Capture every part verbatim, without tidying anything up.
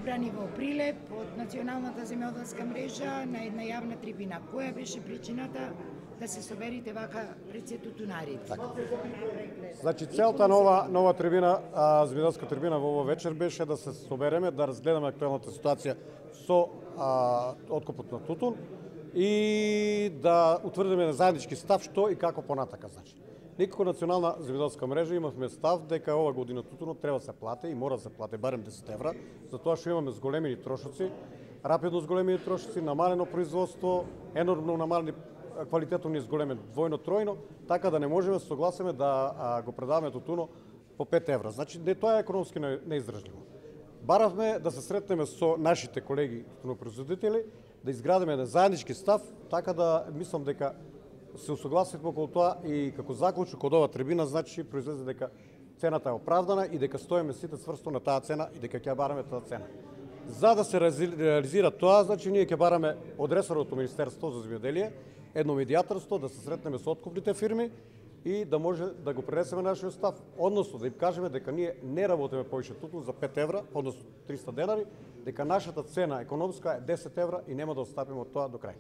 собрани во Прилеп од Националната земјоделска мрежа на една јавна трибина. Која беше причината да се соберите вака пред се тутунарите? Така. Значи целта нова нова трибина, а, земјоделска трибина во овој вечер беше да се собереме, да разгледаме актуелната ситуација со а, откупот на тутун и да утврдиме заеднички став што и како понатака. Значи, ние како Национална земјоделска мрежа имавме став дека ова година тутунот треба да се плати и мора да се плати барем десет евра, затоа што имаме зголемени трошоци, рапидно зголемени трошоци, намалено производство, енормно намалени квалитетот ни зголемен двојно, тројно, така да не можеме да се согласиме да а, го предаваме тутуно по пет евра. Значи, не, тоа е економски неиздржливо. Баравме да се сретнеме со нашите колеги тутунопроизводители, да изградиме еден заеднички став, така да мислам дека се усогласивме околу тоа и како заклучок од ова трибина, значи произлезе дека цената е оправдана и дека стоиме сите цврсто на таа цена и дека ќе бараме таа цена. За да се реализира тоа, значи ние ќе бараме од ресорното Министерство за земјоделие едно медијаторство, да се сретнеме со откупните фирми и да може да го пренесеме нашиот став, односно да им кажеме дека ние не работиме повеќе тутун за пет евра, односно триста денари, дека нашата цена економска е десет евра и нема да отстапиме од тоа до крај.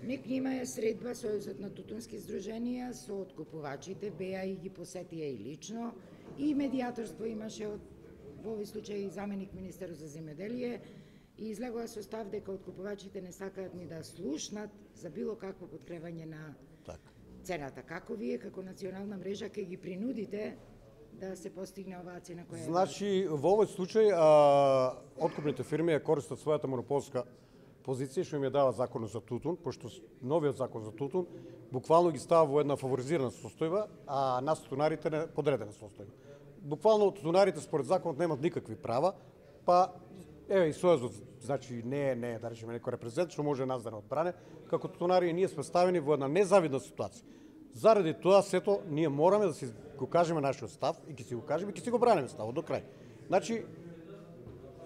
Некнима е средба Сојузот на тутунски здруженија со откупувачите, беа и ги посетија и лично, и медијаторство имаше од во овој случај заменик министер за земјоделие и излегува со став дека откупувачите не сакаат ни да слушнат за било какво подкревање на так. цената. Како вие како национална мрежа ќе ги принудите да се постигне оваа цена која е? Значи, во овој случај а, откупните фирми ја користат својата монополска позиција што им ја дава законот за тутун, пошто новиот закон за тутун буквално ги става во една фаворизирана состојба, а нас тутунарите не подредена состојба. Буквално тутунарите според законот немаат никакви права, па еве и Сојузот, значи не е не е да речеме некој репрезент што може нас да не одбране, како тутунари ние сме ставени во една незавидна ситуација. Заради тоа сето ние мораме да си го кажеме нашиот став и ќе си го кажеме и ќе си го браниме ставот до крај. Значи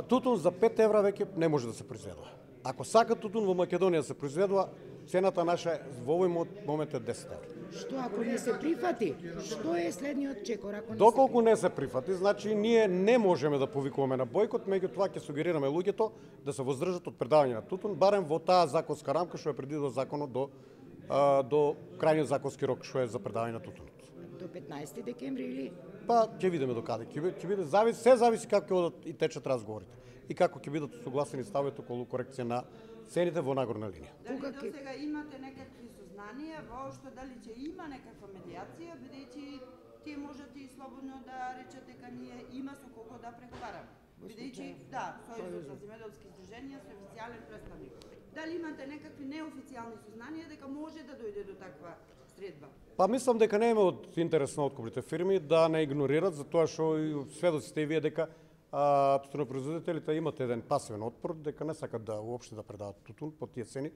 тутун за пет евра веќе не може да се произведува. Ако сака тутун во Македонија се произведува, цената наша во овој момент е десет евра. Што ако не се прифати? Што е следниот чекор ако не Доколку се не се прифати, значи ние не можеме да повикуваме на бојкот, меѓутоа ќе сугерираме луѓето да се воздржат од предавање на тутун, барем во таа законска рамка што е предвидено законот до а, до крајниот законски рок што е за предавање на тутунот. До петнаесети декември или? Па ќе видиме до каде ќе биде, ќе биде зависи, се зависи како ќе одат и течат разговорите и како ќе бидат согласени ставите околу корекција на цените во нагорна линија. Дали до сега имате некакви сознанија воопшто дали ќе има некаква медијација, бидејќи тие можете и слободно да речете дека ние има со кого да преговараме. Бидејќи да, Сојузот за земјоделски здруженија со официјален представник. Дали имате некакви неофицијални сознанија дека може да дојде до таква средба? Па мислам дека не е од интерес на откупните фирми да не игнорират, затоа што и сведоците и вие дека а, тутунопроизводителите имат еден пасивен отпор, дека не сакат да уопште да предават тутун по тие цени.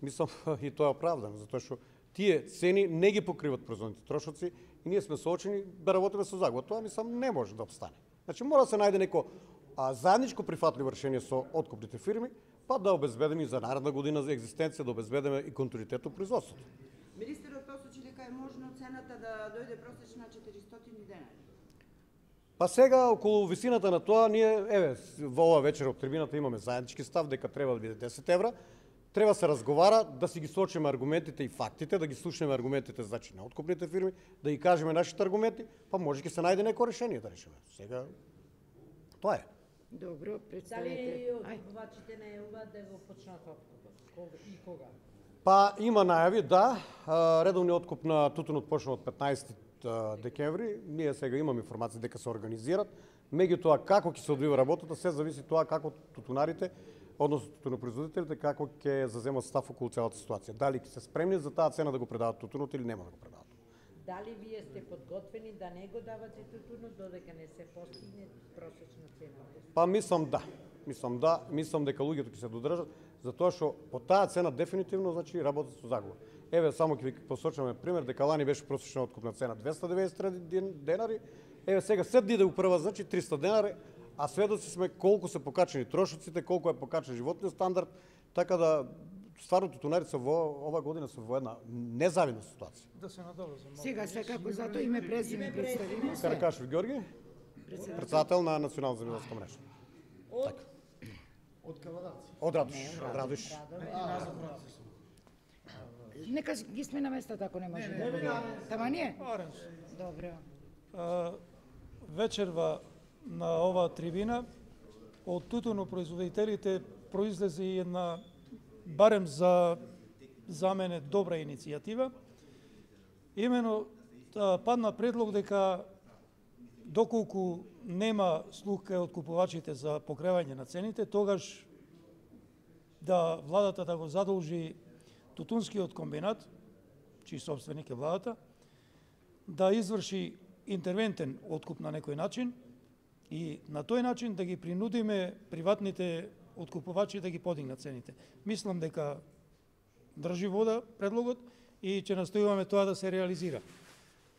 Мислам и тоа е оправдано, затоа што тие цени не ги покриват производните трошоци и ние сме соочени да работиме со загуба. Тоа мислам не може да обстане. Значи мора да се најде неко а, заедничко прифатливо решение со откупните фирми, па да обезбедиме и за наредна година за екзистенција, да обезбедиме и континуитет во производството. Министерот посочи дека е можно цената да дојде просечна четиристотини денари. Па сега околу висината на тоа ние еве во ова вечер од трибината имаме заеднички став дека треба да биде десет евра. Треба се разговара, да си ги сочиме аргументите и фактите, да ги слушнеме аргументите значи на откупните фирми, да ги кажеме нашите аргументи, па може ќе се најде некој решение да решиме. Сега тоа е. Добро, Дали представете. откупувачите најавуваат да го почнат откупот? И кога? Па има најави, да. Редовниот откуп на тутунот почна од петнаесети декември. Ние сега имаме информација дека се организираат. Меѓутоа како ќе се одвива работата, се зависи тоа како тутунарите, односно тутунопроизводителите, како ќе заземат став околу целата ситуација. Дали ќе се спремни за таа цена да го предават тутунот или нема да го предават. Дали вие сте подготвени да не го давате тутунот додека не се постигне просечна цена? Па мислам да. Мислам да, мислам дека луѓето ќе се додржат, затоа што по таа цена дефинитивно значи работат со загуба. Еве само ќе ви посочиме пример дека лани беше просечна откупна цена двесте деветдесет и три денари, еве сега се дни да упрва значи триста денари, а сведоци сме колку се покачени трошоците, колку е покачен животниот стандард, така да стварно тутунарите во ова година се во една незавидна ситуација. Да се надоврзам. Сега секако затоа име презиме представиме се. Каракашев Ѓорги, председател на Национална земјоделска мрежа. Од Така. Од Радош. Од Радош. Нека ги смена местата ако не може да бъде. Тама не? Оранж. Добро. А, вечерва на оваа трибина од тутунопроизводителите произлезе и една барем за за мене добра иницијатива. Имено падна предлог дека доколку нема слух кај откупувачите за покривање на цените, тогаш да владата да го задолжи Тутунскиот комбинат, чиј собственик е владата, да изврши интервентен откуп на некој начин и на тој начин да ги принудиме приватните откупувачи да ги подигнат цените. Мислам дека држи вода предлогот и ќе настојуваме тоа да се реализира.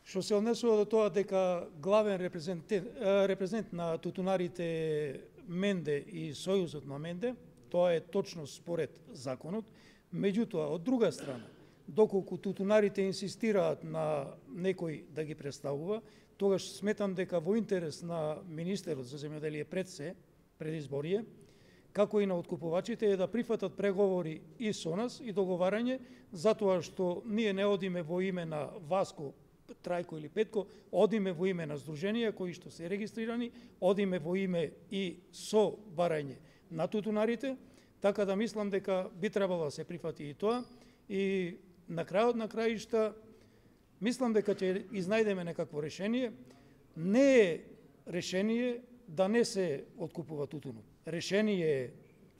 Што се однесува до тоа дека главен репрезентент, репрезент на тутунарите Менде и Сојузот на Менде, тоа е точно според законот. Меѓутоа, од друга страна, доколку тутунарите инсистираат на некој да ги представува, тогаш сметам дека во интерес на министерот за земјоделие пред се, пред изборие, како и на откупувачите е да прифатат преговори и со нас и договарање, затоа што ние не одиме во име на Васко, Трајко или Петко, одиме во име на здруженија кои што се регистрирани, одиме во име и со барање на тутунарите, така да мислам дека би требало да се прифати и тоа. И на крајот на краишта, мислам дека ќе изнајдеме некакво решение. Не е решение да не се откупува тутунот. Решение е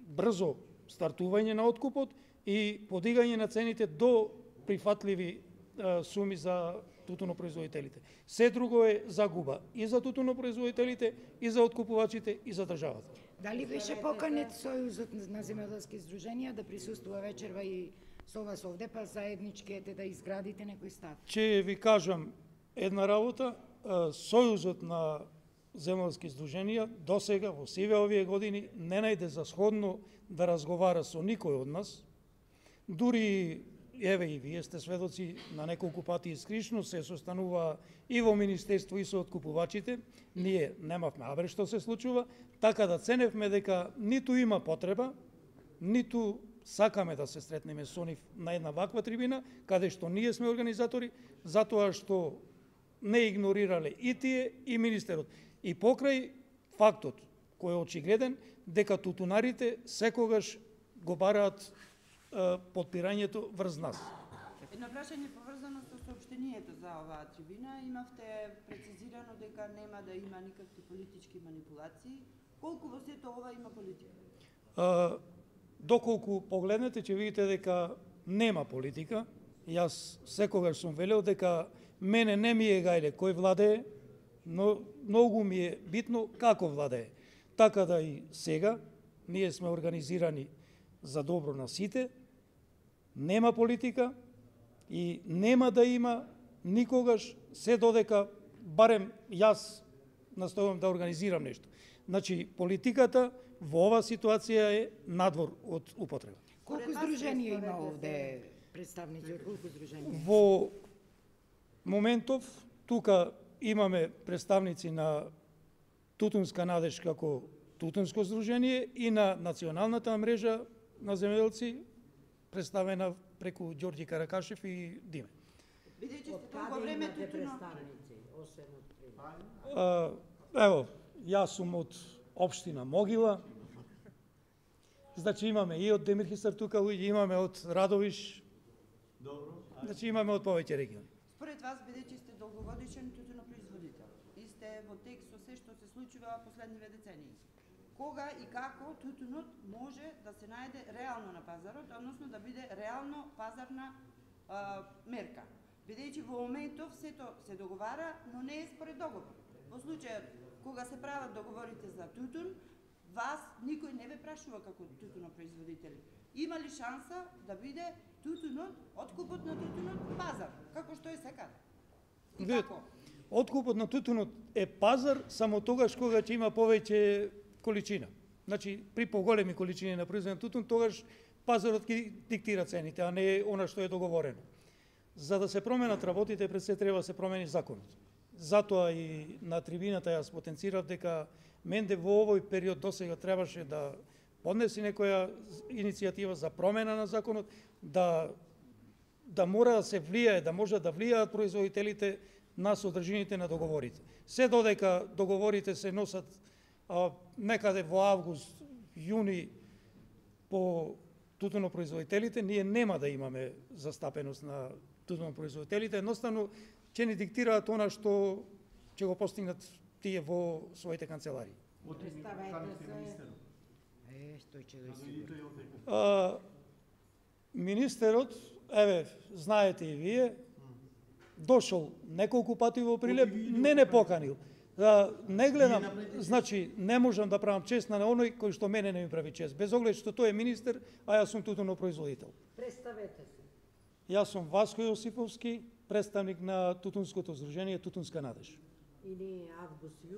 брзо стартување на откупот и подигање на цените до прифатливи е, суми за тутунопроизводителите. Се друго е загуба и за тутунопроизводителите, и за откупувачите, и за државата. Дали беше поканет Сојузот на земјоделски здруженија да присуствува вечерва и со вас овде, па заеднички ете да изградите некој став? Ќе ви кажам една работа. Сојузот на земјоделски здруженија досега во сиве овие години не најде за сходно да разговара со никој од нас. Дури еве и вие сте сведоци на неколку пати искришно се состанува и во министерство и со откупувачите. Ние немавме абре што се случува, така да ценевме дека ниту има потреба, ниту сакаме да се сретнеме со нив на една ваква трибина, каде што ние сме организатори, затоа што не игнорирале и тие и министерот. И покрај фактот, кој е очигледен, дека тутунарите секогаш го бараат е, подпирањето врз нас. Едно прашање поврзано со соопштението за оваа трибина. Имавте прецизирано дека нема да има никакви политички манипулации. Колку во сето ова има политика? А, доколку погледнете, ќе видите дека нема политика. Јас секогаш сум велел дека мене не ми е гајле кој владее, но многу ми е битно како владее. Така да и сега, ние сме организирани за добро на сите, нема политика и нема да има никогаш, се додека барем јас настојувам да организирам нешто. Значи, политиката во оваа ситуација е надвор од употреба. Колку здруженија има овде представници од колку здруженија? Во моментов, тука имаме представници на Тутунска надеж како Тутунско здружение и на националната мрежа на земјоделци, представена преку Ѓорѓи Каракашев и Диме. Бидејќи сте Од толку каде време имате тутуно. представници, освен од Прилеп? А, ево, јас сум од општина Могила. Значи имаме и од Демирхистар тука, и имаме од Радовиш. Добро. Значи имаме од повеќе региони. Според вас, бидејќи сте долгогодишен тутунопроизводител и сте во текст со се што се случува последниве децении, кога и како тутунот може да се најде реално на пазарот, односно да биде реално пазарна а, мерка? Бидејќи во моментов сето се договара, но не е според договор. Во случајот кога се прават договорите за тутун, вас никој не ве прашува како тутунопроизводители. Има ли шанса да биде тутунот, откупот на тутунот пазар, како што е сега? И Видете, како? откупот на тутунот е пазар само тогаш кога ќе има повеќе количина. Значи, при поголеми количини на произведен тутун, тогаш пазарот ќе диктира цените, а не она што е договорено. За да се променат работите, пред се треба да се промени законот. Затоа и на трибината јас потенцирав дека Менде во овој период досега требаше да поднеси некоја иницијатива за промена на законот, да да мора да се влијае, да може да влијаат производителите на содржините на договорите. Се додека договорите се носат а, некаде во август, јуни по тутунопроизводителите, ние нема да имаме застапеност на тутунопроизводителите, едноставно ќе ни диктираат она што ќе го постигнат тие во своите канцеларии. Представете се. Е, тој ќе да сигурно. А, министерот, еве, знаете и вие, дошол неколку пати во Прилеп, не не поканил. Да, не гледам, значи, не можам да правам чест на оној кој што мене не ми прави чест, без оглед што тој е министер, а јас сум тутунопроизводител. Представете се. Јас сум Васко Јосиповски, представник на Тутунското здружение Тутунска надеж. Или август, јули.